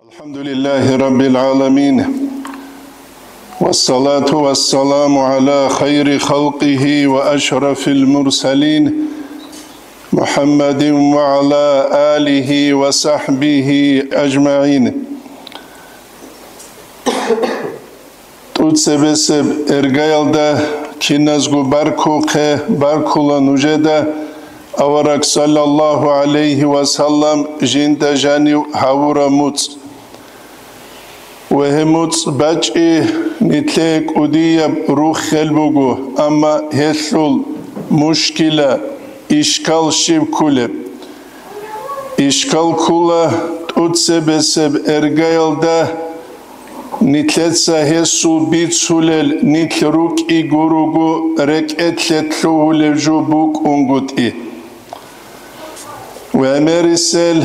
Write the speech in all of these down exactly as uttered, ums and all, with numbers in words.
الحمد لله رب العالمين، والصلاة والسلام على خير خلقه وأشرف المرسلين، محمد وعلى آله وصحبه أجمعين. ТӀуцебесеб эргаялда киназго баркухъе, баркула нужеда авараг саллаллагьу гӀалайгьи ва саллам жинда жанив гьавураб муцӀ. Ва гьеб муцӀ бачӀи нилъее кӀудияб руххел буго, амма гьелъул мушкила, ишкал щиб кколеб? Ишкал ккола тӀуцебесеб эргаялда нилъеца гьесул бицулел нилъ рукӀи гуруго рекӀелъе лъугьулев жо букӀунгутӀи. ГӀемерисел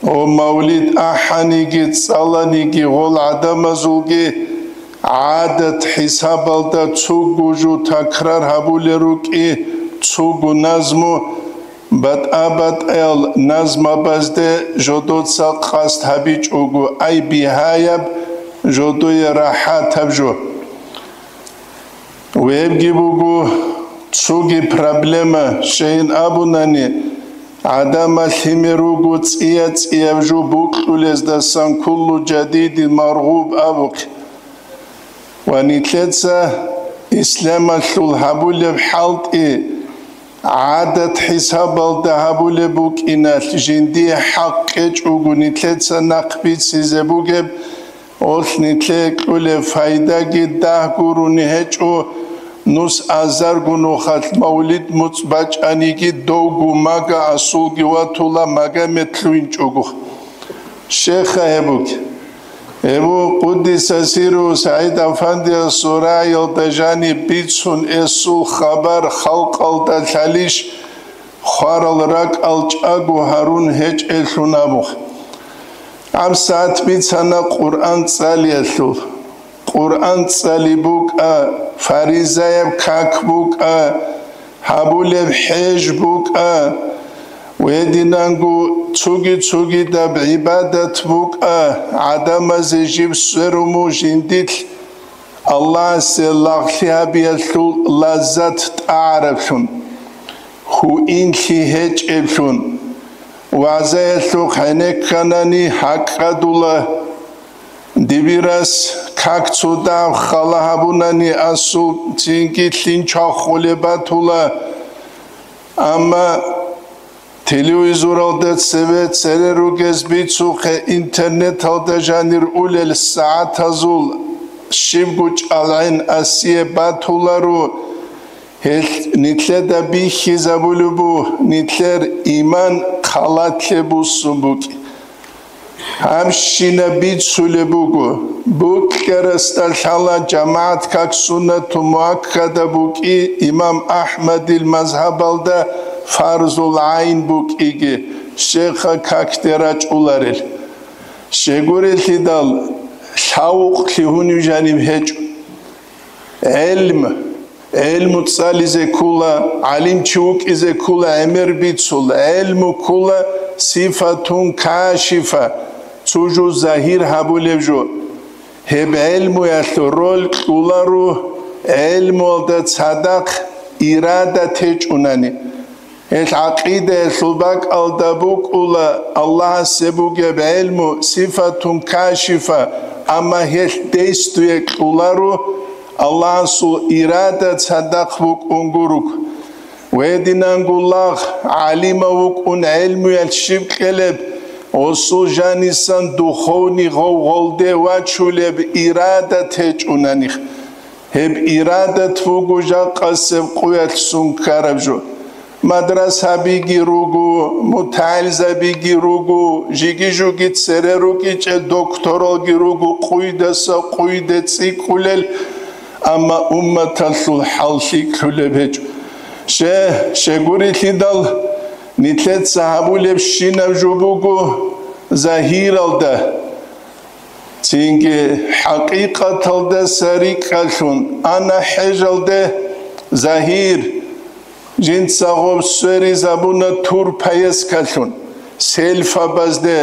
гьеб мавлид ахӀаниги цӀаланиги гъол гӀадамазулги гӀадат хӀисабалда цугу жо такрар гьабулел рукӀи, цугу назму, батӀа-батӀаял назмабазде жодоца къасд гьабичӀого, ай бигьаяб, жодое рахӀатаб жо. Вебги буго цоги проблема, щайин абунани, гӀадамал лъимер руго цӀия-цӀияб жо букьулездасан куллу жадидин маргъуб абухъе. Ва нилъеца исламалъул гьабулеб хӀалтӀи гӀадат хӀисабалда гьабулеб букӀиналъ, жиндие хӀакъ кьечӀого нилъеца нахъ бицизе бугеб, гьелъ нилъее кьолеб пайдаги дагь гурони гьечӀо, нус азарго нухалъ мавлид муцӀ бачӀаниги довго мага асулги ватула, магомет лъугьинчӀого. Щайха гьеб бугеб? Гьеб буго, къуддиса сирругьу, СагӀид-афандиясул рагӀиялда жаниб бицун эсул хабар халкъалда лъалищ, хварал ракӀал чӀаго гьарун гьечӀелъул абухъе. ГьабсагӀат бицана Къуръан цӀалиялъул. Къуръан цӀали букӀа, фаризаяб как букӀа, гьабулеб хӀеж букӀа, гьединанго цоги-цогидаб гӀибадат букӀа, гӀадамазе жиб сверун жиндилъ Аллагьасе лагълъи гьабиялъул лаззат тӀагӀараблъун, гьуинлъи гьечӀеблъун, вагӀзаялъухъ гӀенекканани гьакӀкӀадула. Дибирас как цо дагьаб хала гьабунани асул цинги лъин чвахулеб батула. Амма телевизоралда цеве цере ругез бицухъе, интернеталда жанир улел сагӀатазул щибго чӀалгӀен асие батуларо. Гьелъ нилъеда бихьизабулеб буго, нилъер иман халатлъи буссун букӀин. Гьабщинаб бицулеб буго, букӀарасда лъала жамагӀат как суннату муаккада букӀи, имам АхӀмадил мазгьабалда фарзул гӀайн букӀиги, щайха какде рачӀуларел. Щайгурелъидал, лъавукълъи гьуниб жаниб гьечӀо. ГӀелм, гӀелму цӀализе ккола, гӀалимчи вукӀизе ккола, гӀемер бицула, гӀелму ккола сифатун кашифа, цо жо загьир гьабулеб жо. Гьеб гӀелмуялъул роль кьоларо гӀелмуялда цадахъ ирада течӀунани. Гьелъ гӀакъидаялъул бакӀалда букӀула Аллагьасе бугеб гӀелму сифатун кашифа, амма гьелъ действие кьоларо Аллагьасул ирада цадахъ букӀун гуруго. Гьединанго лагъ, гӀалимав вукӀун гӀелмуялъ щиб кьелеб, гьесул жанисан духовный гъовгъолде вачулеб ирада течӀунани. Гьеб ирадат буго жакъасеб къуялъ сун ккараб жо. Мадрасабиги руго, мутагӀилзабиги руго, жиги-жуги цере рукӀичӀел докторалги руго, къуйдаса къуйде цӀикӀкӀулел, амма умматалъул хӀал лъикӀлъулеб гьечӀо. Ще, щегурелъидал нилъеца гьабулебщинаб жо буго загьиралда. Цинги хӀакъикъаталдаса рикӀкӀалъун ана хӀежалде, загьир, жинца гъоб сверизабуна тур поездкалъун, селфабазде,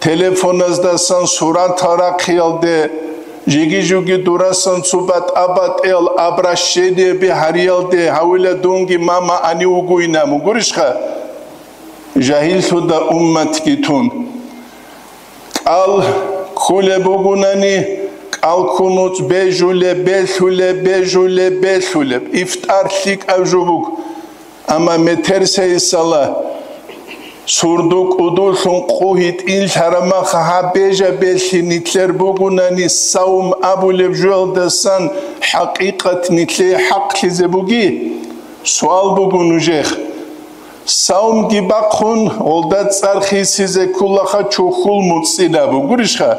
Телефоназдасан суратал рахъиялде, жиги-жуги дурасан цо батӀа-батӀиял обращениеби гьариялде гьавила дунги мама ани вугуйна, мугурищха? Жагьиллъуда умматги тун. КӀал ккулеб бугунани, кӀал ккун нуц бежулеб, белъулеб, бежулеб, белъулеб. Ифтар лъикӀаб жо буго. Амма метер сайсала сурду кӀудулъун къу гьитӀинлъараб маха гьаб бежа-белъи нилъер бугунани, савм абулеб жоялдасан хӀакъикъат нилъее хӀакълъизе буги? Суал буго нужех. Савмги бахъун, гъолда цӀар хисизе кколаха чухьул муцӀила, бугурищха?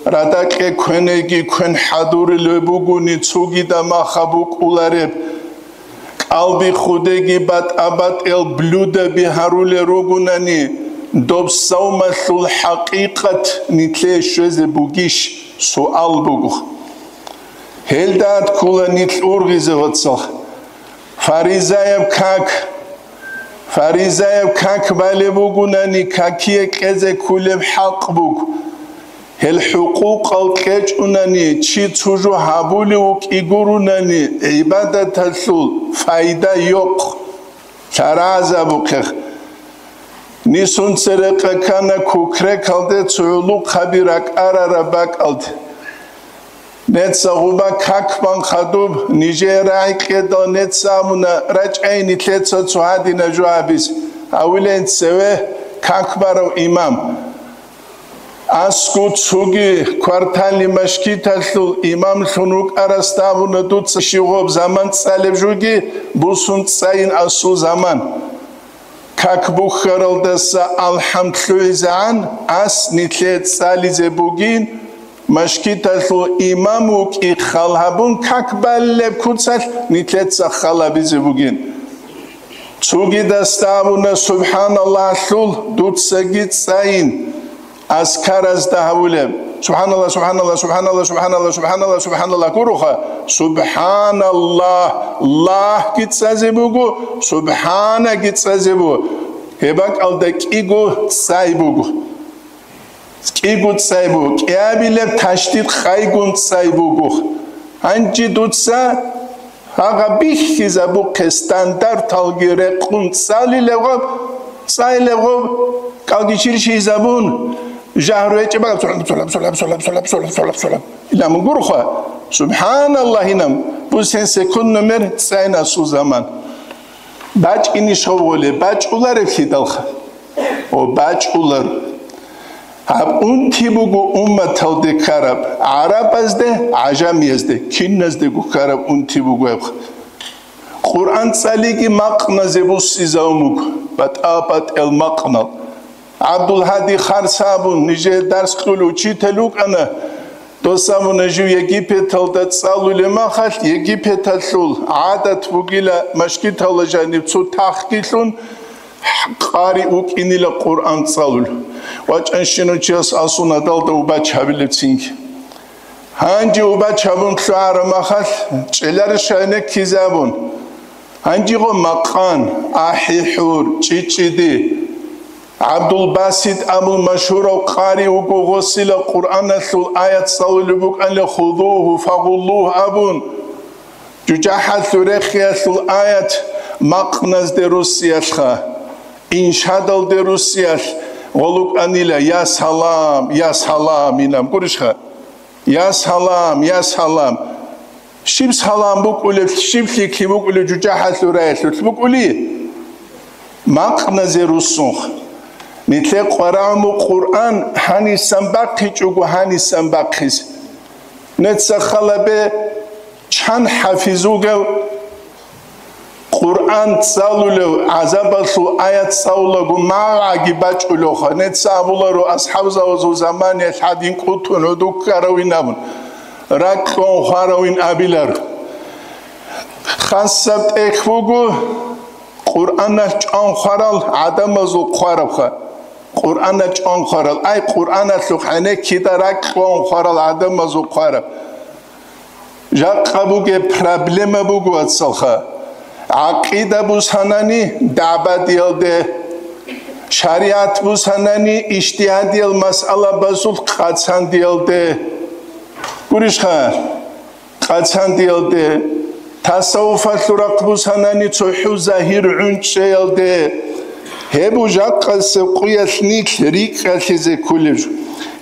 Радакье квенеги квен хӀадурулеб бугони, цогида маха букӀулареб. КӀалби худеги батӀа-батӀиял блюдаби гьарулел ругунани, доб савмалъул хӀакъикъат нилъее щвезе бугищ? Суал буго. Гьелда ккола нилъ ургъизе, вацал. Фаризаяб как. Фаризаяб как балеб бугунани, какие кьезе кколеб хӀакъ буго. Гьел хӀукъукъал кьечӀунани, чи цо жо гьабулев вукӀи гурунани, гӀибадаталъул пайда йохъ. Лъаразабухъех. Нисун церекъа ккана кукрекалде цо гӀулухъаби ракӀарараб бакӀалде. Неца гъуба как бан хадуб, нижее рагӀи кьедал неца абуна, рачӀай нилъеца цо гьадина жо гьабиз, гьавилен цеве как барав имам. Асгу цуги кварталли машгиталъул имамлъун вукӀарасда абуна, дуца щивгъаб заман цӀалеб жуги, бусун цӀайин асул заман. Как бухьаралдаса алхӀам лъугӀизегӀан, ас нилъее цӀализе бугин, машгиталъул имам вукӀи хал гьабун, как балеб куцалъ нилъеца хал гьабизе бугин. Цугидасда абуна, СубхӀаналлагьлъул дуцаги цӀайин. Азкаразда гьавулеб: «СубхӀаналлагь, субхӀаналлагь, субхӀаналлагь, субхӀаналлагь, субхӀаналлагь, субхӀаналлагь», гуроха. СубхӀаналлагь, лагьги цӀазе буго, субхӀанаги цӀазе буго. Гьеб бакӀалда кӀиго цӀай буго. КӀиго цӀай буго. КӀиабилеб ташдид къайгун цӀай буго. Гьанже дуца гьагъа бихьизабухъе, стандарталги рекъун цӀалилеб гъаб, цӀайлеб гъаб, кӀалги чирщизабун, жагьру гьечӀеб бакӀаб, цолаб, цолаб, цолаб. Ила мугурха, субхӀаналлагь, инам, бусен секунд номер цӀайнасул заман. БачӀинищ гъов гъоле, бачӀуларев лъидалха? О, бачӀулар. Гьаб унти буго умматалде ккараб, гӀарабазде, гӀажамиязде, киназдего ккараб унти буго гьеб. Къуръан цӀалиги макъназе буссизавун буго, батӀа-батӀиял макънал. ГӀабдулгьади Харса абун, нижее дарс кьул учитель вукӀана. Дос абуна, жив Египеталда цӀалулеб махалъ, Египеталъул гӀадат бугила, машгиталда жаниб цо тахги лъун, къари вукӀинила Къуръан цӀалул. ВачӀанщинав чияс асун гьадалда убач гьабилебцинги. Гьанже убач гьабун лъугӀараб махалъ, чӀеларищ гьенеккизе абун. Гьанжего макъан, ахӀи-хӀур, чӀичӀчӀиди. ГӀабдулбасит абул машгьурав къари вуго, гъосила Къуръаналъул аят цӀалулеб букӀанила: «Худугьу фагъуллугь», – абун. ЖужахӀалъул рехиялъул аят макъназде руссиялъха, иншадалде руссиялъ гъолукӀанила: «Я салам, я салам», – инаб гурищха? «Я салам, я салам». Щиб салам букӀулеб, щиб лъикӀлъи букӀулеб жужахӀалъул раялъулъ букӀули? Макъназе руссунха. Нилъе къварагӀуму Къуръан гьанисан бахъичӀого гьанисан бахъизе. Неца халабе чан хӀафиз вугев, Къуръан цӀалулев, гӀазабалъул аят цӀалулаго магӀаги бачӀулевха. Неца абуларо, асхӀабзабазул заманиялъ гьадин кӀутун гӀодуккаравин абун, ракьун хваравин абилар. Хасаб тӀехь буго Къуръаналъ чӀван хварал гӀадамазул хъварабха. Къуръаналъ чӀван хварал, ай, Къуръаналъухъ гьенеккида ракьун хварал гӀадамазул хъвараб. Жакъа бугеб проблема буго, вацалха. ГӀакъида бусанани дагӀбадиялде, шаригӀат бусанани ижтигьадиял масъалабазул къацандиялде. Гурищха? Къацандиялде, тасаввуфалъул рахъ бусанани цохӀу загьир гӀунчӀчӀаялде, гьеб жакъасеб къуялъ нилъ рикӀкӀалъизе кколеб жо.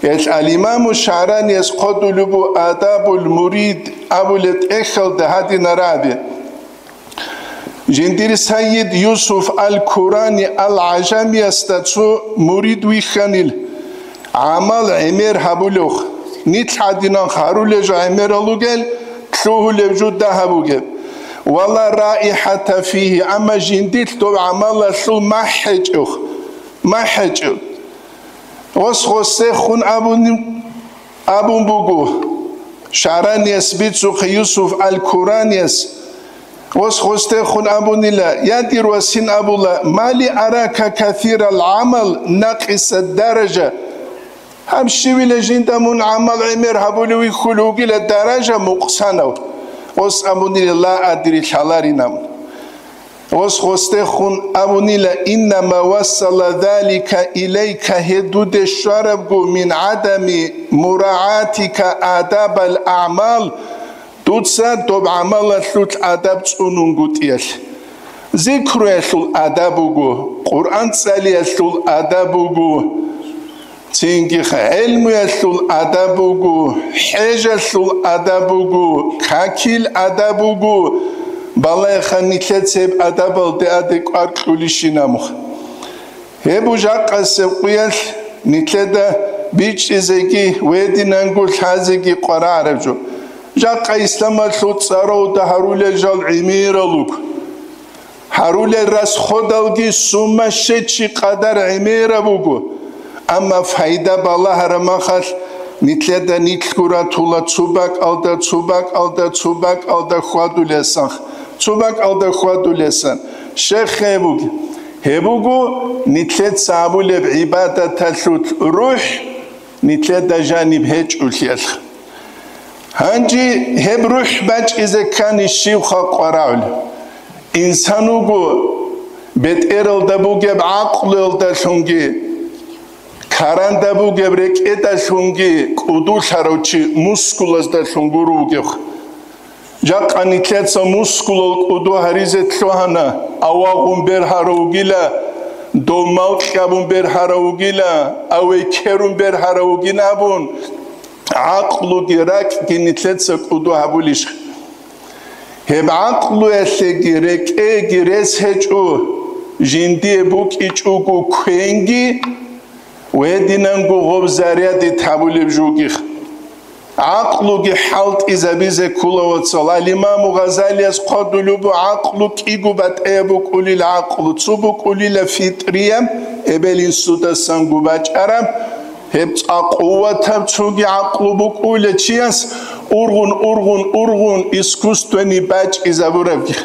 Гьелъ ал-Имаму ШагӀраниялъ хъвалеб буго Адабул мурид абулеб тӀехьалда гьадинаб рагӀаби. Жиндир Сайид Юсуф ал-Курани ал-ГӀажамиясда цо мурид вихьанил, гӀамал гӀемер гьабулев, нилъ гӀадинан гьарулел жо гӀемерал ругел, лъугьулеб жо дагьаб бугеб. Вала раихӀата фигьи, амма жиндилъ доб гӀамалалъул махӀ гьечӀев, махӀ гьечӀев. Гъос-гъосехун абуни-, абун буго, ШагӀранияс бицухъе Юсуф ал-Куранияс, гъос-гъосдехун абунила, я дир васин абула, мали арака касирал гӀамал накъисад даража, гьаб щивила жинда мун гӀамал гӀемер гьабулев вихьулев вугила даража мукъсанав. Гъос абунила, ла адри, лъаларинаб. Гъос-гъосдехун абунила, иннама вассала залика илайка, гьеб дуде щварабго, мин гӀадами мураатика адабал агӀмал, дуца доб гӀамалалъулъ адаб цӀунунгутӀиялъ. Зикруялъул адаб буго, Къуръан цӀалиялъул адаб буго. Цинги гӀелмуялъул адаб буго, хӀежалъул адаб буго, какил адаб буго, балагьеха нилъеца гьеб адабалде адекӀвар кьулищинаб. Гьеб жакъасеб къуялъ нилъеда бичӀчӀизеги гьединанго лъазеги къварагӀараб жо. Жакъа исламалъул цӀаравда гьарулел жал гӀемерал руго. Гьарулел расходалги сумма щечи къадар гӀемераб буго, амма пайда балагьараб махалъ, нилъеда нилъго ратула цо бакӀалда, цо бакӀалда, цо бакӀалда хьвадулесан, цо бакӀалда хьвадулесан. Щайх гьеб буго? Гьеб буго нилъеца гьабулеб гӀибадаталъул рухӀ нилъеда жаниб гьечӀолъиялъ. Гьанже гьеб рухӀ бачӀизе ккани щивха къварагӀулеб? Инсан вуго бетӀералда бугеб гӀакълуялдалъунги, каранда бугеб рекӀедалъунги кӀудулъарав чи мускулаздалъун гуро вугев. Жакъа нилъеца мускулал кӀуду гьаризе лъугьана, авагъун бергьарав вугила, дов малкьабун бергьарав вугила, авейкерун бергьарав вугин абун, гӀакълуги ракӀги нилъеца кӀуду гьабулищ? Гьеб гӀакълуялъеги рекӀеги рес гьечӀо, жиндие букӀичӀого квенги, гьединанго гъоб зарядит гьабулеб жугих. ГӀакълуги хӀалтӀизабизе ккола, вацал. Ал-Имаму Гъазалияс хъвалеб буго, гӀакълу кӀиго батӀияб букӀунила гӀакълу, цо букӀунила фитӀрияб, эбел-инсудасанго бачӀараб, гьеб цӀакъ къуватаб цоги гӀакълу букӀунила чияс, ургъун, ургъун, ургъун искусственный бачӀизабурабги.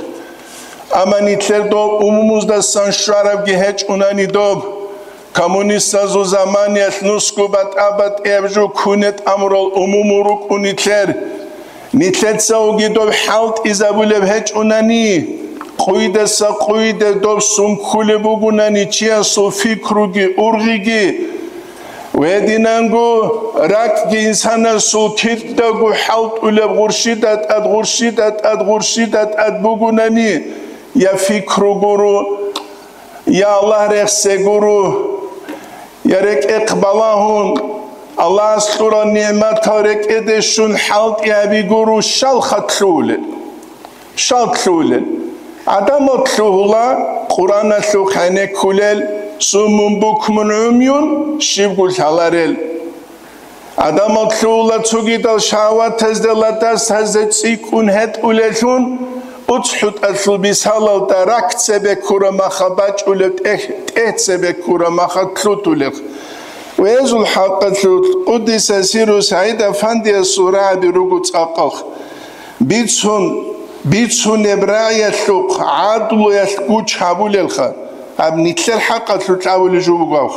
Амма нилъер доб умумуздасан щварабги гьечӀунани доб, коммунистазул заманиялъ нусго батӀа-батӀияб жо ккуне тӀамурал умуму рукӀун нилъер. Нилъецаоги доб хӀалтӀизабулеб гьечӀунани, къуйдаса къуйде доб сункулеб бугунани чиясул фикруги ургъиги, гьединанго ракӀги инсанасул кидаго хӀалтӀулеб гъурщида тӀад, гъурщида тӀад, гъурщида тӀад бугунани, я фикру гуро, я Аллагь рехсе гуро, я рекӀехъ балагьун, Аллагьас кьурал нигӀматал рекӀеде щун хӀалтӀи гьаби гуро, щалха лъугьулел? Щал лъугьулел? ГӀадамал лъугьула Къуръаналъул хӀенеккулел, суммун букмун гӀумюн, щибго лъаларел. ГӀадамал лъугьула цогидал шагьаватазде ладаз тазе цӀикӀкӀун гьетӀулеллъун, уцхӀутӀалъул бисалалда рак цебе ккураб маха бачӀулеб тӀехь, тӀехь цебе ккураб маха лъутулел. Везул хӀакъалъулъ, къуддиса сирру, СагӀид Афандиясул рагӀаби руго цӀакъалъ. Бицун, бицунеб рагӀиялъухъ гӀадлуялъ гуч гьабулелха, гьаб нилъер хӀакъалъулъ абулеб жо буго.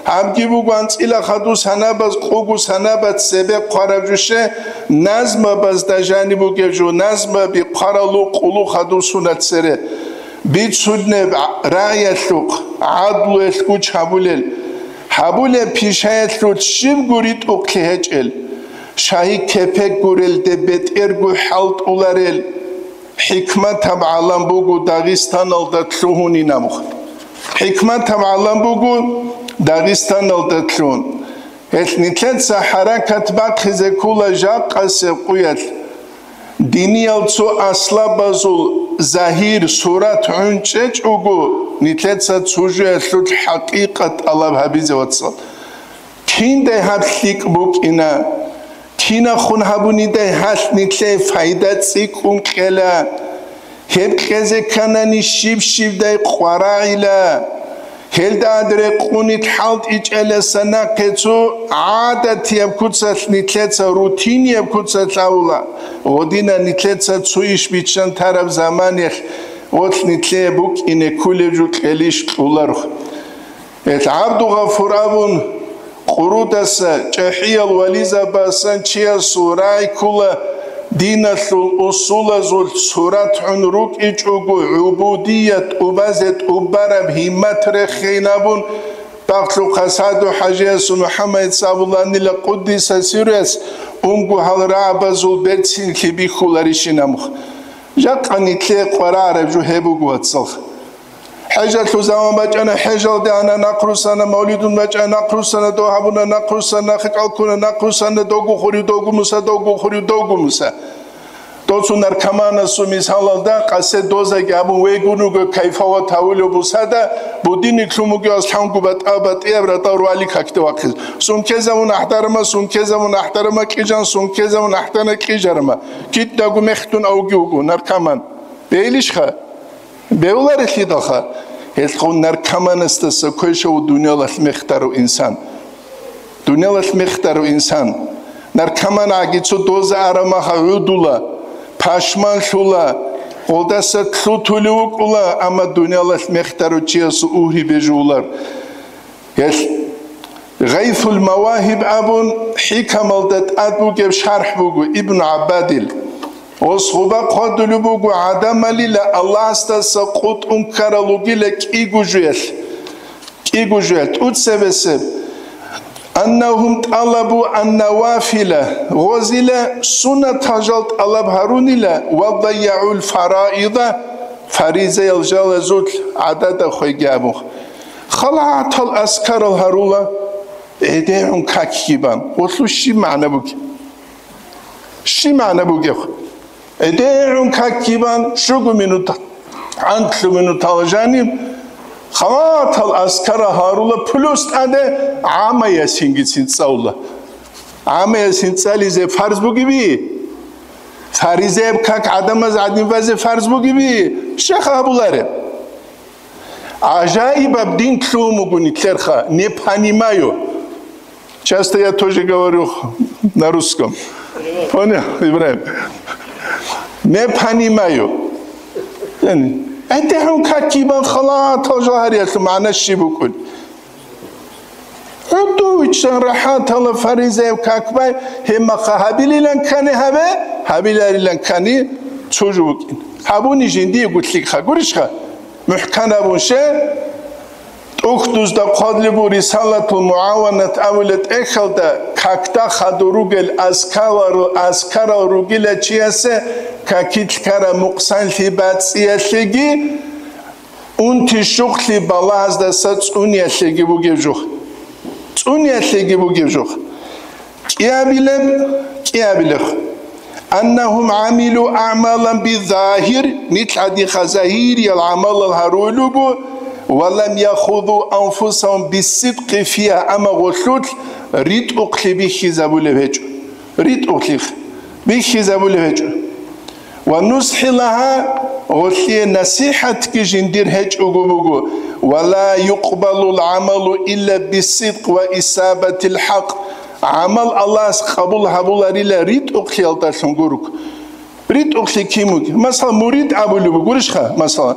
Гьабги буго анцӀила хадус гьанабаз къугу санабат цебе хъвараб жуше, назмабазда жаниб бугеб жо, назмаби хъваралу къулу хадусуна цере. Бицунеб рагӀиялъухъ гӀадлуялъ гуч гьабулел, гьабулеб пишаялъулъ щибго ритӀухълъи гьечӀел, шагьи кепек гурелде бетӀерго хӀалтӀуларел хӀикматаб гӀалам буго Дагъистаналда лъугьунин абухъ. ХӀикматаб гӀалам буго Дагъистаналда лъугьун. Гьелъ нилъеца хӀаракат бахъизе ккола жакъасеб къуялъ. Диниял цо аслабазул загьир, сурат гӀун чӀечӀого, нилъеца цо жоялъулъ хӀакъикъат тӀалаб гьабизе, вацал. Киндай гьаб лъикӀ букӀина? Кинахун гьабунидай гьалъ нилъее пайда цӀикӀкӀун кьела? Гьеб кьезе кканани щиб-щибдай къварагӀила. Гьелда гьад рекъунит хӀалтӀичӀеласа нахъе цо гӀадатияб куцалъ нилъеца, рутинияб куцалъ авула, гъодина нилъеца цо иш биччан тараб заманалъ гъолъ нилъее букӀине кколеб жо кьелищ кьоларухъ. Гьелъ ГӀабдугъафур абун, Къурудаса, чӀахӀиял вализабасан чиясул рагӀи ккола, диналъул усулазулъ сурат гӀун рукӀичӀого, гӀубудият тӀубазе тӀубараб гьиммат рехейин абун, бахълъухъа СагӀду-хӀажиясул МухӀаммад сабуланила къуддиса сирруяс унго гьал рагӀабазул берцинлъи бихьуларищин абухъ. Жакъа нилъее къварагӀараб жо гьеб буго, вацалха. ХӀежалъул заман бачӀана, хӀежалде ана, нахърусана, мавлидун бачӀана, нахърусана, догь гьабуна, нахърусана, нахъе кӀал ккуна, нахърусана, догу хурив, догу муса, догу хурив, догу муса. Доцун наркоманасул мисалалда, къасе дозаги гьабун вегун вуго, кайфават гьавулев бусада, будильник лъун вугев аслъангу батӀа-батӀияб ратӀал руали какде вахъизе. Сумкезавун ахӀдарма, сумкезавун ахӀдарма кьижан, сумкезавун ахӀдана кьижарма. Китдаго мехтун авги вуго наркоман. Бейлищха? Бевларелъидалха, гьелъго наркоманасдаса квешав дуниялалъ мехтарав инсан. Дуниялалъ мехтарав инсан. Наркоман гӀаги цо доза арамаха гӀудула, пашманлъула, гъолдаса лъутулев вукӀула, амма дуниялалъ мехтарав чиясул угьи бежулар. Гьелъ Гъайфул Мавагьиб абун хӀикамалда тӀад бугеб шархӀ буго Ибн ГӀаббадил. Гъос гъуба хъвадулеб буго гӀадамалила Аллагьасдаса къутӀун ккарал ругила кӀиго жоялъ. КӀиго жоялъ тӀуцебесеб. Аннагьум тӀалабу аннавафила, гъозила суннатал жал тӀалаб гьарунила, ва дайягӀул фараида, фаризаял жалазулъ гӀадада хвеги абун. Халатал аскарал гьарула, гӀедегӀун какги бан. Гъолъул щиб магӀна бугеб? Щиб магӀна бугеб? ГӀедегӀун какги бан, щуго минут, гӀантлъу минутал жаниб, халатал аскарал гьарула, плюс тӀаде гӀамма ясингицин цӀалула. ГӀамма ясин цӀализе фарз бугеби? Фаризаяб как гӀадамаз гӀадин базе фарз бугеби? Щай гьабулареб? ГӀажаибаб дин лъугьун буго нилъерха, не понимаю. Часто я тоже говорю на русском. Понял, Ибрагьим? Не понимаю. Яни, гӀедегӀун какги бан халатал жал гьариялъул магӀна щиб букӀун? ГӀодовичӀан рахӀатала фаризаяб как бай, гьеб мехалъ гьабилилан ккани гьабе, гьабиларилан ккани цо жо букӀин. Гьабуни жиндиего лъикӀха, гурищха? МухӀкан абун щай, тӀухьдузда хъвалеб буго Рисалатул МугӀаванат абулеб тӀехьалда, какда хадур ругел аскарал, аскарал ругила чиясе какилъ ккараб мукъсанлъи бацӀцӀиялъеги, унти-щукълъи балагьаздаса цӀуниялъеги бугеб жо. ЦӀуниялъеги бугеб жо. КӀиабилеб, кӀиабилеб. Аннагьум гӀамилу аъмалан бизагьир, нилъ гьадинха загьириял гӀамалал гьаруй руго, ва лам яхузу анфусагьум биссидкъи фигьа, амма гъолъулъ ритӀухълъи бихьизабулеб гьечӀо. РитӀухълъи бихьизабулеб гьечӀо. Ва нусхӀи лагьа, гъолъие насихӀатги жиндир гьечӀого буго, ва ла юкъбалул гӀамалу илла биссидкъ ва исабатил хӀакъ, гӀамал Аллагьас къабул гьабуларила ритӀухълъиялдалъун гуруг. РитӀухълъи кин бугеб? Масала, мурид абулеб бугурищха? Масала,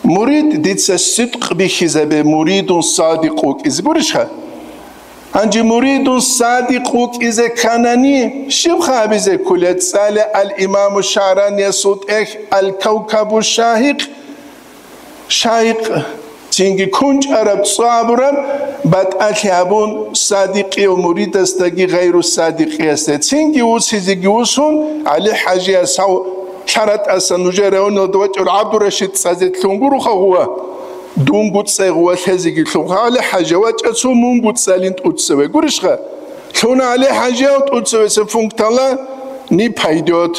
мурид дица сидкъ бихьизабе, муридун садикъ вукӀизе гурищха? Гьанже муридун садикъ вукӀизе кканани, щибха абизе кколеб? ЦӀале ал-Имаму ШагӀраниясул тӀехь Ал-Кавкабу Шагьикъ, шайх, цинги кунчӀараб цӀа абураб батӀалъи гьабун, садикъияв муридасдаги гъайру садикъиясда, цинги усизеги усун, ГӀали-хӀажияс гьав лъаратӀаса нужер районалда вачӀарав ГӀабдурашид цӀазе лъун гуроха гъува, дунго цӀай гъува лъезеги лъун. ГӀали-хӀажа вачӀа цо мунго цӀалин тӀуцеве. Гурищха? Лъуна ГӀали-хӀажияв тӀуцевесеб пунктала не пойдёт.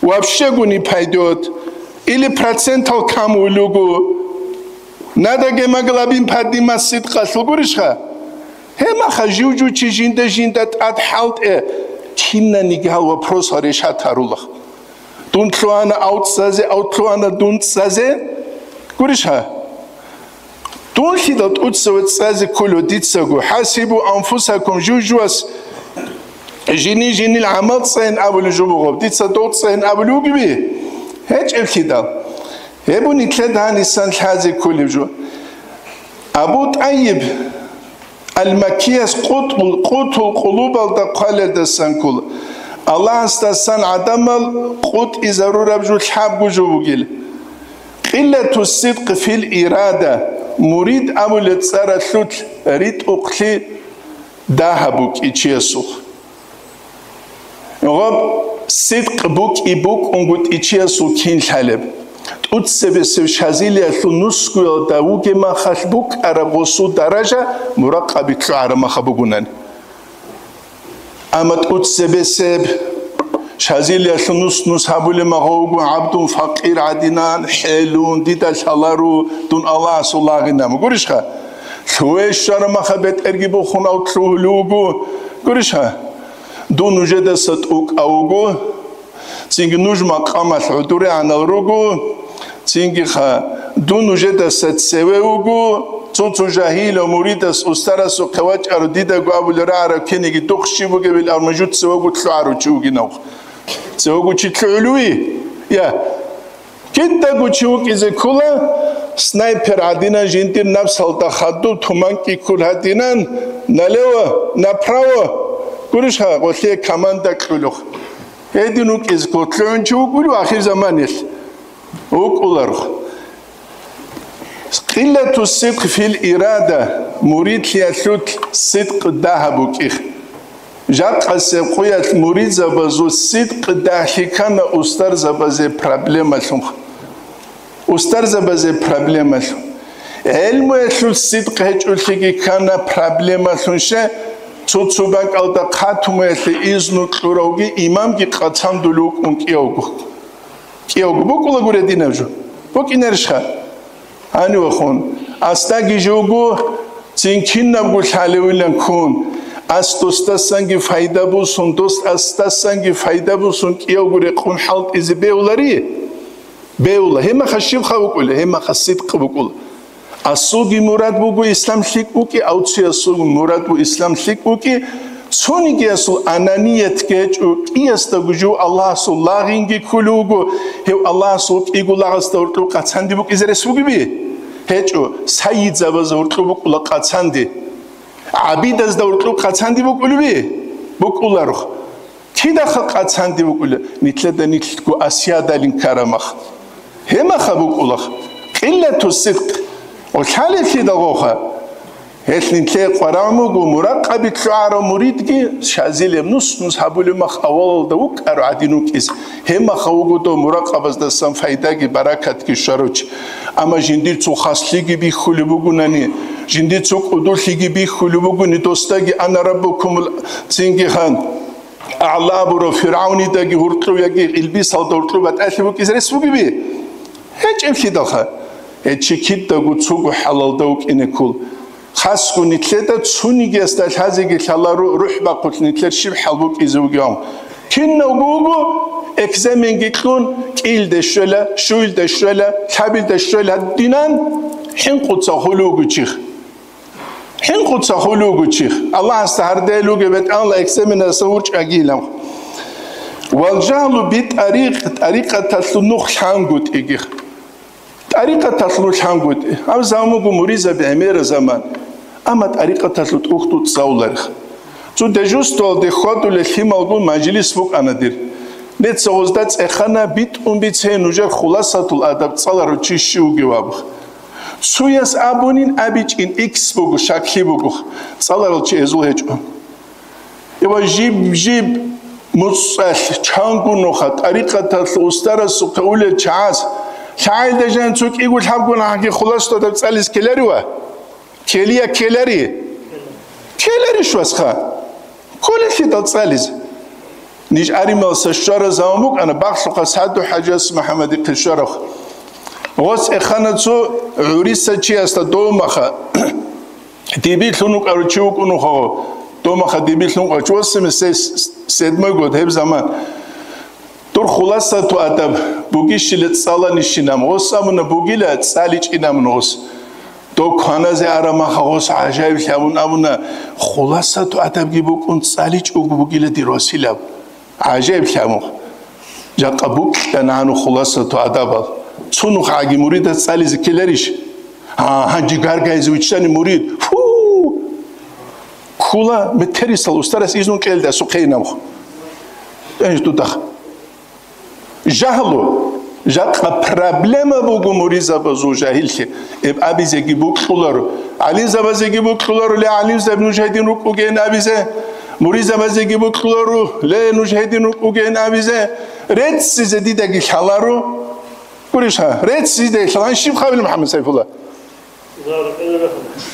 Вообще гу не пойдёт. Или процентал кам вулугу. Надо гемоглобин поднимать сидкъалъул гурищха? Гьемаха жив-жив чи жинда-жинда тӀад хӀалтӀе, кинаниги гьал вопросал решат гьарулах. Дун лъугьана авцӀазе, ав лъугьана дун цӀазе. Гурищха? Дун лъидал тӀуцеве цӀазе кколев дицаго, хӀасибу анфусакум, жив-жувас жини-жинил гӀамал цӀайин абулев жо бугеб, дица дов цӀайин абулев вугеби? ГьечӀеблъидал. Гьеб нилъеда гьанисан лъазе кколеб жо. Абу ТӀайиб Ал-Маккияс къутӀул, къутул къулубалда хъвалелдасан ккола. Аллагьасдасан гӀадамал къутӀизарураб жо лъабго жо бугила. Къиллату сидкъ фил ирада, мурид абулеб цӀаралъулъ ритӀухълъи дагьаб букӀи чиясухъ. Гъаб сидкъ букӀи букӀунгутӀи чиясул кин лъалеб? ТӀуцебесев шазилиялъул нусгуялда вугеб махалъ букӀараб гъосул даража муракъаби лъугӀараб маха бугунани. Амма тӀуцебесеб шазилиялъул нус-нус гьабулеб магъа вуго гӀабдун факъир гӀадинан, хӀелун, дида лъалару, дун Аллагьасул лагъинаб. Гурищха? Лъугье щвараб маха бетӀерги бухун ав лъугьулев вуго. Гурищха? Дун нужедаса тӀукӀав вуго, цинги нуж макъамалъ гӀодорегӀанал руго, цингиха дун нужедаса цеве вуго, цо-цо жагьилав муридас устарасухъе вачӀаро, дидаго абулеб рагӀараб киниги духъ щиб бугебил, амма жуца вуго лъугӀарав чи вугинавха. Цевего чи лъугӀулев вугев? Я. Кидаго чи вукӀизе ккола, снайпер гӀадинан жиндир напсалда хадуб туман кӀиккул гьадинан, налево, направо, гурищха, гъолъие команда кьулухъ. Гьедин вукӀизе ккола, лъугӀун чи вукӀулев ахирзаманалъ? ВукӀуларо. Къиллату сидкъ фил ирада, муридлъиялъулъ сидкъ дагьаб букӀи. Жакъасеб къуялъ муридзабазул сидкъ дагьлъи ккана устарзабазе проблемалъун. Устарзабазе проблемалъун. ГӀелмуялъул сидкъ гьечӀолъиги ккана проблемалъун, ще, цо-цо бакӀалда хъатумуялъе изну кьуравги имамги къацандулев вукӀун кӀиявго. КӀиявго букӀулагури динаб жо. БукӀинарищха? Гьанивахун, асдаги жо вуго, цин кинабго лъалевилан ккун, ас досдасанги пайда бусун, дос асдасанги пайда бусун кӀиявго рекъун хӀалтӀизе бегьулари? Бегьула. Гьемаха щибха букӀула? Гьемаха сидкъ букӀула. Асулги мурад буго ислам лъикӀ букӀи, авциясул мурад бу ислам лъикӀ букӀи, цонигиясул ананият гьечӀо, кӀиясдаго жо Аллагьасул лагъинги кколев вуго, гьев Аллагьасул кӀиго лагъасда гьоркьоб къацанди букӀизе рес бугеби? ГьечӀо, сайидзабазда гьоркьоб букӀула къацанди. ГӀабидазда гьоркьоб къацанди букӀулеби? БукӀуларо. Кидаха къацанди букӀула, нилъеда нилъго асиядалин ккараб мах. Гьемаха букӀулах. Къиллату сидкъ. О, лъалелъидал гъоха. Гьелъ нилъее къварагӀун буго, муракъаби лъугӀарав муридги шазилеб нус-нус гьабулеб мах авалалда вукӀаро гӀадин вукӀиз. Гьеб маха вуго дов муракъабаздасан файдаги баракатги щварав чи. Амма жиндир цо хаслъиги бихьулеб бугунани, жиндир цо кӀудулъиги бихьулеб бугони, досдаги ана раббукумул цинги хан. АгӀла абурав ФиргӀавнидаги гьоркьов яги илбисалда гьоркьоб батӀалъи букӀизе рес бугеби? ГьечӀеблъидалха. Гьечи кидаго цого хӀалалда вукӀине ккол. Хасго нилъеда цонигиясда лъазеги лъаларо рухӀ бахъулъ нилъер щиб хӀал букӀизе вугев. Кинавго вуго, экзаменги кьун, кӀиялда щвела, щуялда щвела, лъабилда щвела гьадинан, хӀинкъуца хулугу чих. ХӀинкъуца хулугу чих. Аллагьасда гьардел вугеб бетӀалла экзаменаса урчӀагилав. Вал жагьлу би тӀарикъ, тӀарикъаталъул нух лъангутӀигих. ТӀарикъаталъул нух лъангутӀи. Гьаб заман буго муризаби гӀемера заман. Амма тӀарикъаталъул тӀухьдул цӀалуларих. Цо дежурствоялде хьвадулел лъималгун мажлис букӀана дир. Нецагъозда цӀехана битӀун бицей нужер Хуласатул Адаб цӀаларав чи щив вугев абу. Цуяс абунин абичӀин икс буго, щаклъи буго, цӀаларал чи гьезул гьечӀо. Эва жиб-жиб муцӀалъ чангу нуха тӀарикъаталъ устарасухъе улел чагӀаз, лъагӀелда жан цо кӀиго лъабгун гьанги Хуласатул Адаб цӀализ ккеларива? Ккелия ккелари? Ккеларищ, васха? Кколелъидал цӀализе. Ниж Арималса щвараз заман букӀана, бахлъухъа СагӀду-ХӀажияс МухӀаммадихъе щварав. Гъос эхана цо гӀуриса чиясда домаха. Дибирлъун вукӀарав чи вукӀун вухаго. Домаха дибирлъун вукӀарав чи, восемьдесят седьмой год, гьеб заман. Дур Хуласату Адаб бугищила цӀаланищинаб, гъос абуна бугила цӀаличӀинабун гъос. Дов кваназе араб маха гъос гӀажаиблъи абун абуна, Хуласату Адабги букӀун цӀаличӀого бугила дир василаб. ГӀажаиблъи абун. Жакъа букьана гьану Хуласату Адабал. Цунухъаги муридаз цӀализе ккеларищ? Гьа, гьанже гаргайзе виччани мурид. Фу! Ккула метерисал устарас изну кьелда сухъейнамх. Жагьлу. Жакъа проблема буго муризабазул жагьиллъи. Эб абизеги букьуларо. ГӀалимзабазеги букьуларо, ле, гӀалимзаби нуж гьедин рукӀугейин абизе. Муризабазеги букьуларо, ле, нуж гьедин рукӀугейин абизе. Реццизе дидаги лъаларо. Гурищ гьа, реццизе дидаги лъалан щиб хабил МухӀаммад Сайфулла?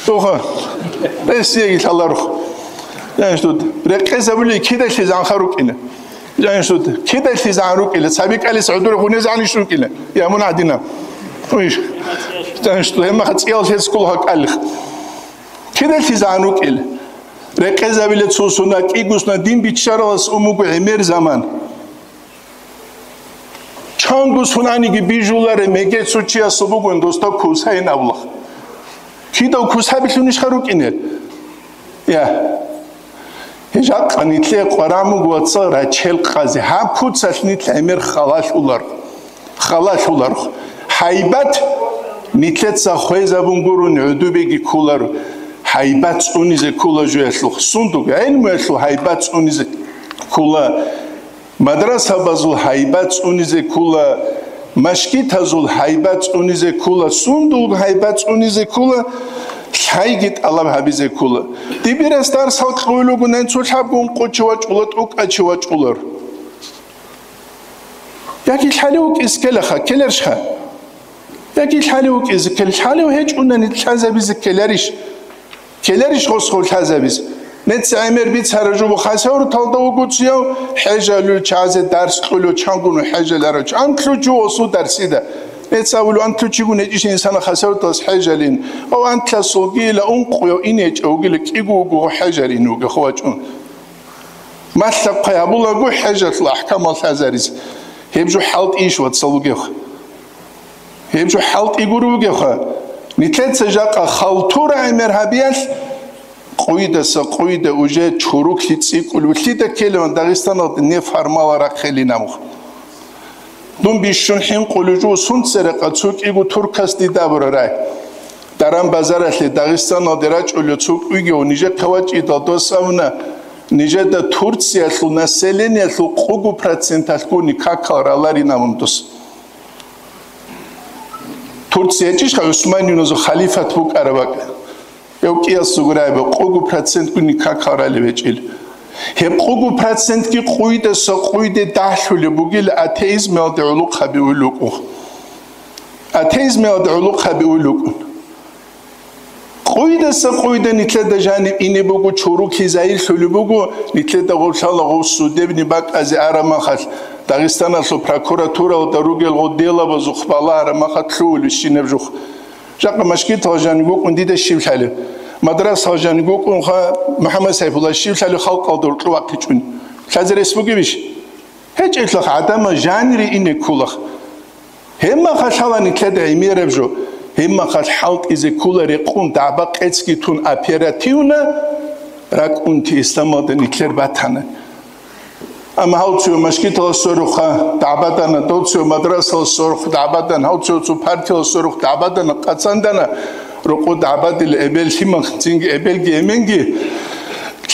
Оха. Ресиеги лъаларухъ. Жаниш тут. Рекъезабули кидалъи занха рукӀина. Жаниш тут. Кидалъи зан рукӀила. Цаби кӀалис гӀудури гъунез гьаниш рукӀила. Я мун гӀадина. Уиш. Жаниш тут. Гьемма хацӀиял хецкул гьакӀалих. Кидалъи зан рукӀила. Рекъезабила цо суна, кӀигусна дин биччаралас умугу гӀемер заман. Чанго сунаниги бижуларе мегецо чиясул бугун досда кусайин авлах. Кидав кусабилъунищха рукӀине? Я. Гьежакъа нитлъе къварамуг вацал рачел къазе. Гьаб куцалъ нитл гӀемер халалъулар. Халалъулар. Гьайбат нитлъеца хвезабун гурун гӀудубеги кколар. Гьайбат цӀунизе ккола жуялъухъ. Сундук гӀелмуялъул гьайбат цӀунизе ккола. Мадрасабазул гьайбат цӀунизе ккола, машгитазул гьайбат цӀунизе ккола, сундул гьайбат цӀунизе ккола, лъайги тӀалаб гьабизе ккола. Дибирас дарсал кьуй ругунан цо лъабгун къучи вачӀула, тӀукӀачи вачӀулар. Яги лъалев вукӀиз ккелаха, ккеларщха? Яги лъалев вукӀизе ккел, лъалев гьечӀунани лъазабизе ккеларищ? Ккеларищ гъосгъав лъазабиз? Нецц гӀемер бицара жубу хасавруталда вугуцияв, хӀежалул чазе дарс кьулев чангуну хӀежаларав чи. Антлъучи осу дарсида. Нецц абулев антлъучигун гьечӀищ инсана хасавруталас хӀежалин. Ва антлъасулгила ункъуяв ин гьечӀев вугила кӀиго вуго хӀежалин вугехъ вачӀун. Малъа-хъвай гьабулаго хӀежалъул ахӀкамал лъазарис. Гьеб жо хӀалтӀийищ вацал вугевха? Гьеб жо хӀалтӀи гуро вугевха? Нилъеца жакъа халтура гӀемер гьабиялъ, къуйдаса къуйда уже чуруклъи цӀикӀкӀулев лъида ккелеван Дагъистаналда не формала рахъелин абухъ. Дун бищун хӀинкъулев жо сунцерекъа цо кӀиго туркас дида абурарай. Даран базаралъе Дагъистаналде рачӀулев цо кӀуйгев нижехъе вачӀидал дос абуна, нижеда Турциялъул населениялъул къугу проценталъгуни какал раларин абун дос. Турция гьечӀищха ГӀусманиюназул халифат букӀараб бакӀ? Гьев кӀиясул гурайба, къугу процентгуни какал рали гьечӀил. Гьеб къугу процентги къуйдаса къуйде дагьлъулеб бугила атеизмалде гӀулухъаби уйлукъу. Атеизмалде гӀулухъаби уйлукъун. Къуйдаса къуйда нилъеда жаниб ине буго, чуруклъи загьирлъулеб буго, нилъеда гъорлъала гъов судебни бакӀазе араб махалъ, Дагъистаналъул прокуратуралда ругел гъо делабазухъ балагьараб махалъ лъугьулищинаб жухъ. Жакъа машгитал жаниб букӀун дида щив лъалеб? Мадрасал жаниб букӀунха МухӀаммад Сайфулла щив лъалеб халкъалда уркьу вахъичӀун? Лъазе рес бугебищ? ГьечӀелъах гӀадамал жанире ине кколах. Гьебмахалъ гьала нилъеда гӀемераб жо, гьебмахалъ хӀалтӀизе ккола рекъун дагӀба къецги тун оперативно ракӀунти исламалда нилъер батана. Амма гьав цо машгиталас сорухъа дагӀбадана, дов цо мадрасалас сорухъа дагӀбадана, гьав цо цо партиялас сорухъа дагӀбадана, къацандана, рокъо дагӀбадил эбел лъимал цинги эбелги эменги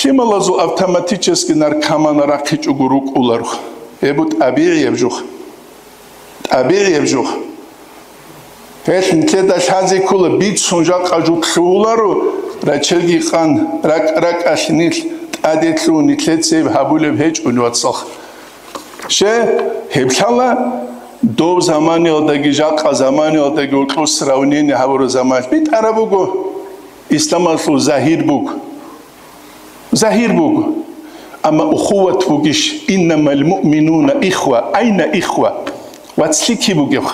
лъималазул автоматически наркоман рахъичӀого рукӀуларо. Эбу тӀабигӀияб жух. ТӀабигӀияб жух. Гьелъ нилъеда лъазе ккола, бицун жакъа жук лъугьуларо, рачелги къан, ракӀ-ракӀалъ нилъ тӀаде лъугьун нилъеца гьеб гьабулеб гьечӀони, вацалха. Ще, гьеб лъала дов заманиялдаги жакъа заманиялдаги гьоркьоб сравнение гьабураб заманалъ битӀараб буго, исламалъул загьир буго. Загьир буго. Амма ухуват бугищ, иннамал муъминуна ихва, айна ихва? Вацлъи киб бугеб?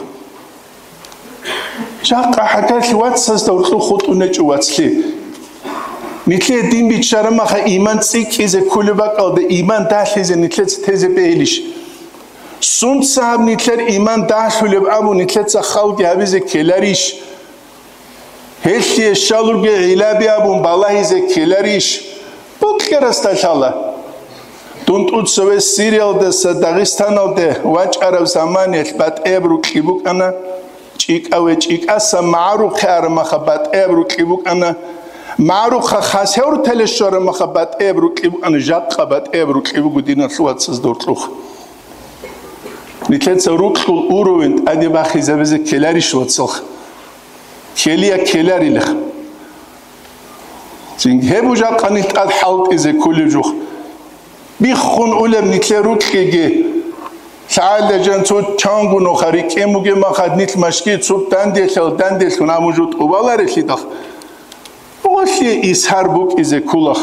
Жакъа гьагарлъи вацазда гьоркьоб хутӀун гьечӀо вацлъи. Нилъее дин биччараб маха иман цӀикӀкӀизе кколеб бакӀалда иман дагьлъизе нилъеца тезе бегьилищ? Сунца гьаб нилъер иман дагьлъулеб абун нилъеца халги гьабизе ккеларищ? Гьелъие щалурги гӀилаби абун балагьизе ккеларищ? Букьарасда лъала. Дун тӀуцаве Сириялдаса Дагъистаналде вачӀараб заманиялъ батӀияб рукьи букӀана, чӀикӀаве чӀикӀаса магӀарухъе араб маха батӀияб рукьи букӀана, магӀарухъа хас гьев рутале щвараб маха батӀияб рукьи букӀана, жакъа батӀияб рукьи буго диналъул вацазда гьоркьохъ. Нилъеца рукьул уровень тӀаде бахизабизе ккеларищ, вацалха? Ккелия ккеларилха. Цинги гьеб жакъа нилъ тӀад хӀалтӀизе кколеб жух. Биххун улеб нилъер рукьиги. ЛъагӀалда жан цо чанго нуха рикӀкӀен бугеб махад нилъ машги цо данделъал данделъун гьабун жо тӀубаларелъидал. Гъолъие исгьар букӀизе кколах.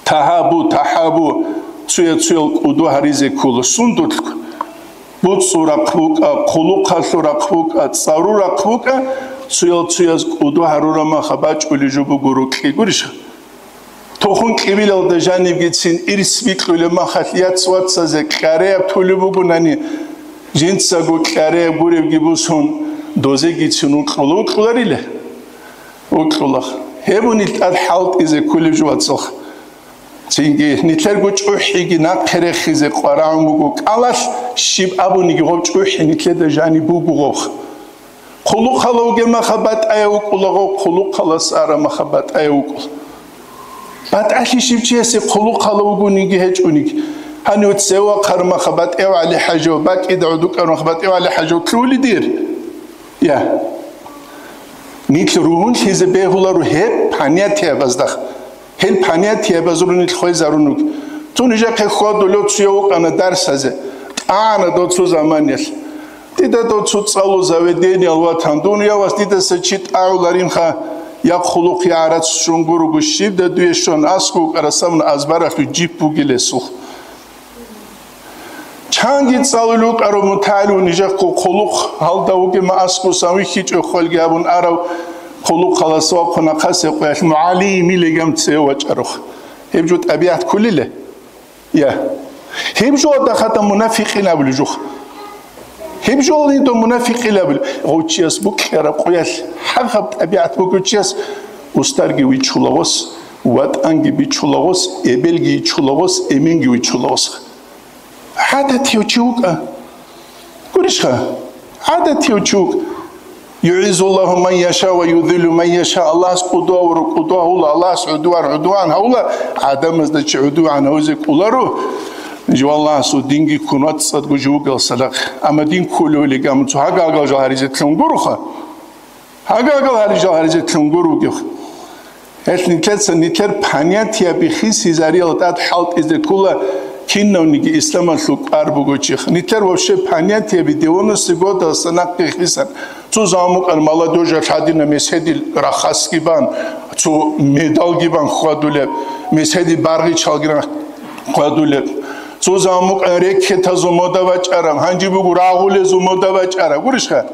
Тагьабу, тахӀабу, цуя-цуял кӀуду гьаризе ккола. Сундулъ? БуцӀцӀул рахъ букӀа, хъулухъалъул рахъ букӀа, цӀарул рахъ букӀа, цуял-цуяз кӀуду гьарураб маха бачӀулеб жо буго рукьи, гурищха? Тухум кьибилалда жанибгицин ирс бикьулеб махалъ яц-вацазе кьареяб тулеб бугунани, жинцаго кьареяб гуребги бусун, дозегицин укьула, укьуларила? Укьулах. Гьеб унел тӀад хӀалтӀизе кколеб жо, вацалха. Цинги нилъерго чӀухӀиги нахъе рехизе къварагӀун буго кӀалалъ, щиб абуниги гъоб чӀухӀи нилъеда жаниб буго гъобха. Хъулухъалав вугеб маха батӀаяв вукӀула гъов, хъулухъалас араб маха батӀаяв вукӀула. БатӀалъи щив чиясе хъулухъалав вугониги гьечӀониги. Гьанив цеве вахъараб маха батӀияв ГӀали-хӀажав, бакӀида гӀодукӀараб маха батӀияв ГӀали-хӀажав лъугьулей дир? Я. Нилъ ругьунлъизе бегьуларо гьеб понятиябазда. Гьел понятиябазул нилъ хвезарун руго. Цо нижехъе хьвадулев цуяв вукӀана дарсазе. ТӀагӀана дов цо заманиялъ. Дида дов цо цӀалу заведениялъ ватан. Дун явас дидаса чи тӀагӀуларинха, я хъулухъ, я гӀарац щун гурого, щибда дуе щван аскӀов вукӀарасавун азбаралъув жип бугилесул. Чанги цӀалулев вукӀарав мутагӀилив нижехъе хъулухъ гьалда вугеб ма аскӀусан вихьичӀо хвалги абун арав хъулухъалас вахъун ахъасе къоялъ мугӀалим илегам цеве вачӀарухъ. Гьеб жо тӀабигӀат кколила? Я. Гьеб жо дагьада мунафикъин абулеб жух. Гьеб жо гьедо мунафикъин абулеб. Гъов чияс букьараб къоялъ гьаб-гьаб тӀабигӀат бугев чияс устарги вичула гъос, ватӀанги бичула гъос, эбелги йичула гъос, эменги вичула гъос. ГӀадатияв чи вукӀа. Гурищха? ГӀадатияв чи вукӀа. ЮгӀиззуллагьу ман яша ва юзиллу ман яша. Аллагьас кӀудув гьавура, кӀудув гьавула, Аллагьас гӀудуван, гӀудуван гьавула, гӀадамазда чи гӀудуван гьавизе кӀоларо. Жо Аллагьасул динги ккун вацӀцӀадго жо вугел садахъ. Амма дин кколевлигамун цо гьагагал жал гьаризе лъун гуроха. Гьагагал гьарижал гьаризе лъун гур вугев. Гьелъ нилъеца нилъер понятияби хисизариял тӀад хӀалтӀизе ккола, кинавниги исламалъул кӀвар бугочих. Нилъер вообще понятияби девяностые годалдаса нахъе хисан. Цо заман букӀана молодёжьалъ гьадинаб месгьедил рахасги бан, цо медалги бан хьвадулеб, месгьедил баргъичалги ран хьвадулеб. Цо заман букӀана рекетазул мода бачӀараб, гьанже буго рагъулезул мода бачӀараб. Гурищха?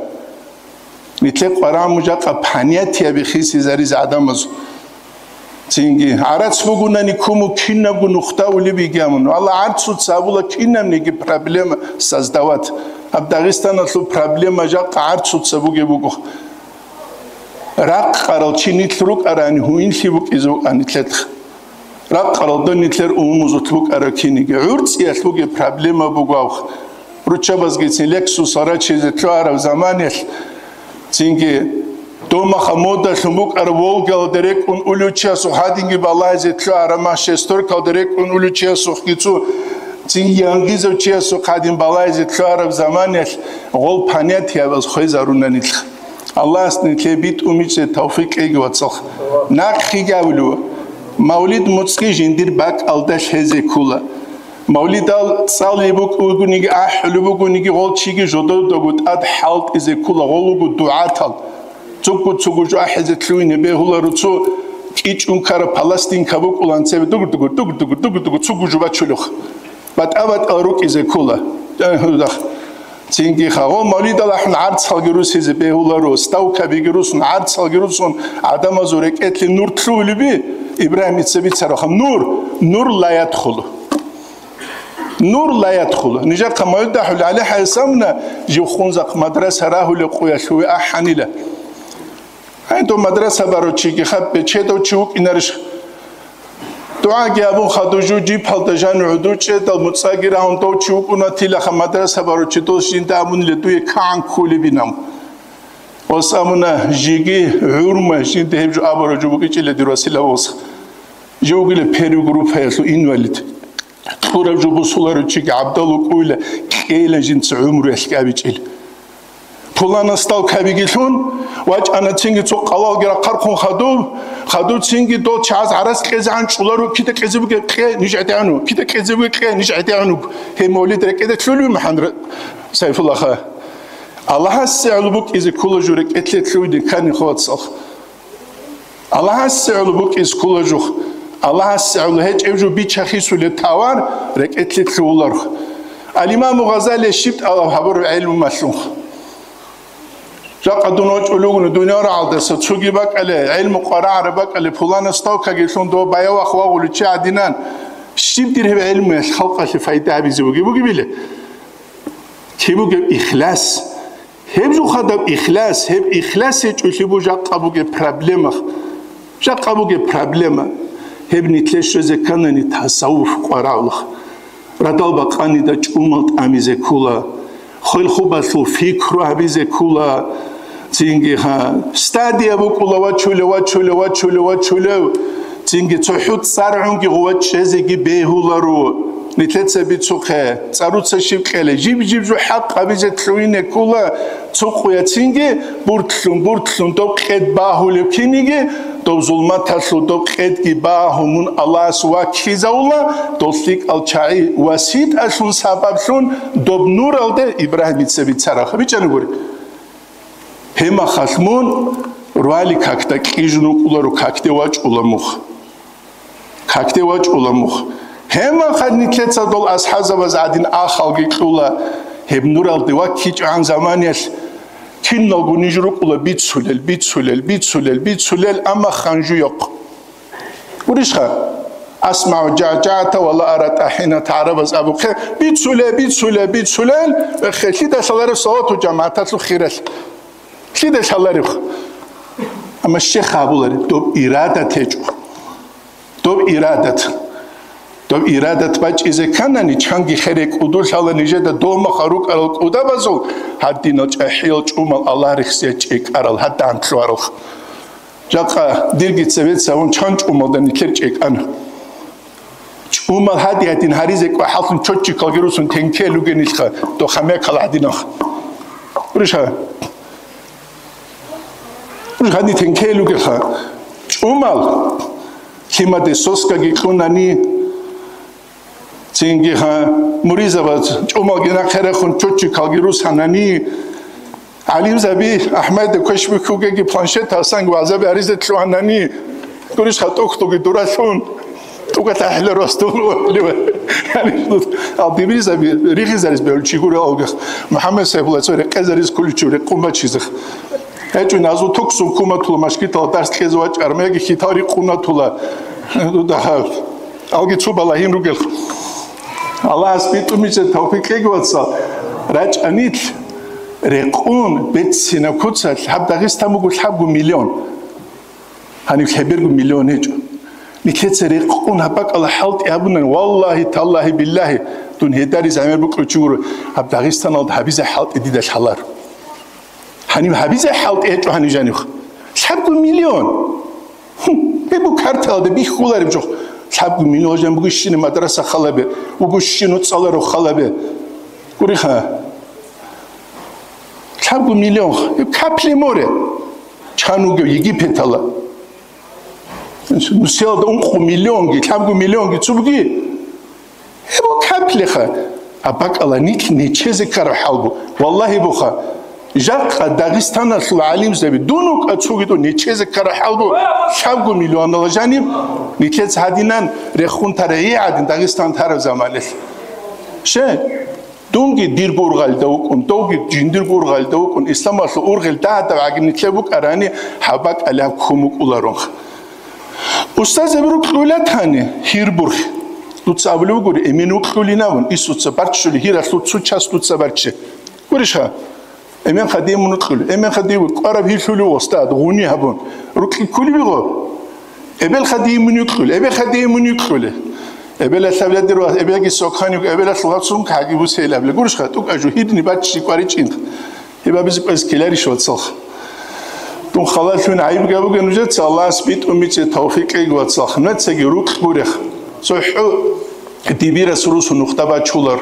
Нилъер къварагӀму жакъа понятияби хисизаризе гӀадамазул. Цинги гӀарац бугунани куму кинабго нухда улеб йигей абун. Аллагь, гӀарцуца абула кинабниги проблема создавать. Гьаб Дагъистаналъул проблема жакъа гӀарцуца бугеб буго. Ракъарал чи нилъ рукӀарани гьуинлъи букӀизе букӀа нилъехъ. Ракъаралда нилъер умумузулъ букӀараб киниги. ГӀурцӀиялъ бугеб проблема буго аб. Руччабазгицин Лексусал рачизе лъугьараб заманиялъ, цинги домаха модалъун букӀараб Волгалда рекӀун улев чиясухъ гьадинги балагьизе лъугьараб ма шестеркалда рекӀун улев чиясухъги цо Цин янгизав чиясухъ гьадин балайзе лъугьараб заманаялъ гъол понятиябаз хвезарунанилъ. Аллагьас нилъее битӀумичӀеб тавфикъ кьеги, вацалха. Нахъеги абулев, мавлид муцӀги жиндир бакӀалда лъезе ккола. Мавлидал цӀалулеб букӀуниги, ахӀулеб бугониги, гъол чиги жододаго тӀад хӀалтӀизе ккола, гъол руго дугӀатал. Цугу-цугу жо ахӀизе лъугьине бегьуларо, цо кӀичӀун ккараб палестинка букӀулан цебе дугу-дугу, дугу-дугу, дугу-дугу, цугу жо бачулев. БатӀа-батӀал рукӀизе ккола. Цинги хагъо мавлидал ахӀун гӀарцалги русизе бегьуларо, ставкабиги русун, гӀарцалги русун, гӀадамазул рекӀелъе нур лъугьулеби, Ибрагьимица бицарабха, нур, нур ла ядхулу. Нур ла ядхулу. Нижахъа мавлид ахӀулел гӀалихӀайсамна, жив хунзахъ мадраса рагьулев къуялъуве ахӀанила. Гьанив мадраса барав чиги хаппе, чедав чи вукӀинарищ? ДугӀаги абун хадув жу жипалда жан гӀуду чӀедал муцӀаги рагьун дов чи вукӀуна, тилаха мадраса барав чи дос жинда абунила дуе кагӀан кколебинав. Ос абуна жиги гӀурма жинда гьеб жо абурав жо букӀичӀила дир василав ос. Жив вугила первый группаялъул инвалид. Кьураб жо бусуларев чиги гӀабдал вукӀуйла, кьейила жинца гӀумруялъ кӀабичӀел. Пуланас ставкабиги лъун, вачӀана цинги цо къалалги рахъархъун хадуб, хадуб цинги дол чагӀаз гӀарац кьезегӀан чӀулару, кида кьезе бугеб кье, ниж гӀедегӀуну, кида кьезе бугеб кье, ниж гӀедегӀуну. Гьеб мавлид рекӀеде лъулев, МухӀаммад Сайфуллаха? Аллагьасе гӀоло букӀизе ккола жо рекӀелъе лъугьине ккани, хвацалха. Аллагьасе гӀоло букӀизе ккола жо. Аллагьасе гӀоло гьечӀеб жо бичахисулеб товар рекӀелъе лъугьуларха. Ал-Имаму Гъазалияс щиб тӀалаб гьабураб гӀелму малъунха? Жакъа дун вачӀулев вугони дуниял рагӀалдаса цоги бакӀале, гӀелму къварагӀараб бакӀале, пуланас ставкаги лъун дов баявахъ вагъулев чи гӀадинан, щиб дир гьеб гӀелмуялъ халкъалъе пайда гьабизе бугеб бугебила? Киб бугеб ихлас? Гьеб жо хадаб ихлас, гьеб ихлас гьечӀолъи бу жакъа бугеб проблема. Жакъа бугеб проблема. Гьеб нилъе щвезе кканани тасаввуф къварагӀулаха. Радал бакъанида чӀумал тӀамизе ккола. Хвел-хубалъул пикру гьабизе ккола. Цинги, гьа, стадия букӀула вачулев, вачулев, вачулев, вачулев. Цинги цохӀо цӀар гӀунги гъува чӀезеги бегьуларо. Нилъеца бицухъе, цӀаруца щиб кьела, жиб-жиб жо хӀакъ гьабизе лъугьине ккола, цо къуяцинги буртлъун-буртлъун доб къед багьулев киниги, доб зулматалъул доб къедги багьун мун Аллагьас ваккизавула, дол лъикӀал чагӀи васитӀалъун сабаблъун доб нуралде Ибрагьимица бицараб. БичӀана гури. Гьемахалъ мун руали какда кьижун вукӀуларо, какде вачӀула мух. Какде вачӀула мух. Гьемахалъ нилъеца дол асхӀазабаз гӀадин ахалги кьула, гьеб нуралде ваккичӀогӀан заманиялъ киналго ниж рукӀула бицулел, бицулел, бицулел, бицулел, амма ханжуйохъ. Гурищха? АсмагӀу жагӀжагӀата ва ла ара тӀагьината гӀарабаз абухъе, бицуле, бицуле, бицулел, эхе, лъида лъаларев салавату жамагӀаталъул хиралъ. Лъида лъаларев? Амма щех абулареб, доб ирадат гьечӀо. Доб ирадат. Доб ирадат бачӀизе кканани, чанги хере кӀудулъала нижеда догьмаха рукӀарал кӀудабазул, гьадинал чӀахӀиял чӀумал Аллагь рехсия чӀекӀарал, гьадда антлъуаралха. Жакъа дирги цебеца вун чан чӀумалда нилъер чӀекӀана. ЧӀумал гьади-гьадин гьаризе кӀвахӀаллъун чоччикалги русун тенкел ругенилха, дохъа мекал гӀадинах. Гурищха? Гурищ гьадин тенкел ругелха. ЧӀумал лъимаде соскаги кьунани, цинги, гьа, муризабаз чӀумалги нахъе рехун чоччикалги русанани, гӀалимзаби АхӀмадида квеш бихьугеги планшет гьасанги вагӀзаби гьаризе лъугьанани, гурищха тӀухьдуги дуралъун, тӀуга тахӀила ростулугӀлива. Алдибиризаби рихизарис бегьулчи гурел алгах. МухӀаммад Сайфулла цо рекъезарис куличив рекъун бачизах. ГьечӀо назул туксун куматула машгитала дарс кьезе вачӀар, меги хитал рикъунатула. Алги цо балагьин ругел. Аллагьас битӀумичӀеб тавфикъ кьеги, вацал, рачӀанил рекъун беццинаб куцалъ гьаб Дагъистан буго лъабго миллион. Гьаниб лъеберго миллион гьечӀо. Нилъеца рекъун гьаб бакӀала хӀалтӀи гьабунани, валлагьи, таллагьи, биллагьи, дун гьедариз гӀемер букӀулев чи гуро, гьаб Дагъистаналда гьабизе хӀалтӀи дида лъалар. Гьаниб гьабизе хӀалтӀи гьечӀо гьаниб жаниб. Лъабго миллион. Гьеб бу карталда бихьулареб жо. Лъабго миллион жан буго щине мадраса халабе, буго щине цӀаларо халабе. Гуриха. Лъабго миллион. Капли море. Чан вугев Египетала. Нусиялда ункъо миллионги, лъабго миллионги цо буги. Гьеб каплиха. А бакӀала нилъ нечезе ккараб хӀал бу. Валлагьи буха. Жакъа Дагъистаналъул гӀалимзаби дун вукӀа цогидо нечезе ккараб хӀал бу. Лъабго миллионала жаниб нилъец гьадинан рехун тарагьи гӀадин Дагъистан тараб заманалъ. Ше? Дунги дир бургъалда вукӀун, довги жиндир бургъалда вукӀун, исламалъул ургъел дагьадав гӀагиб нилъер букӀарани, гьаб бакӀалияб ккун букӀуларонха. Устазаби рукьула тани, гьир бурхи. Дуца абулев гури, эмен рукьулин абун, исуца барччули гьиралъул цу час дуца барччи. Гурищха? Эмен хадимун рукьули, эмен хадимун кӀвараб гьирлъули устад, гъуни гьабун. Рукьи ккули бигъо? Эбел хадимун рукьули, эбел хадимун рукьули. Эбела лъабладир ва эбелги сокхани, эбела лъугьа сумка гьаги бусейил абла. Гурищха, тӀукӀа жу гьирни баччи кӀваричӀин. Гьеб абизе кӀвез ккеларищ, вацалха? Дун халалъун гӀайиб габуге нужеца, Аллагьас битӀун бицӀе тавфикъ кьеги, вацалха. Нацаги рукь гурех. ЦохӀо дибирас русу нухда бачулар.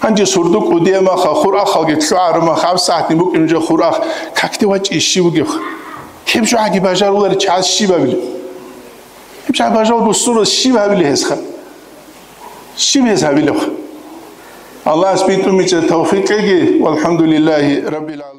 Гьанже сурду кӀудиямаха, хурахалги лъугӀарумаха, гьаб сагӀатни букӀин нужер хурах, какде вачӀи щив вугевха? Гьеб жо гьаги бажарулари чагӀаз щиб абилеб? Гьеб жо бажарул бусурбас щиб гьабилеб гьесха? Щиб гьес гьабилебха? Аллагьас битӀун бицӀе тавфикъ кьеги, валхӀамдулиллагьи раббил гӀаламин.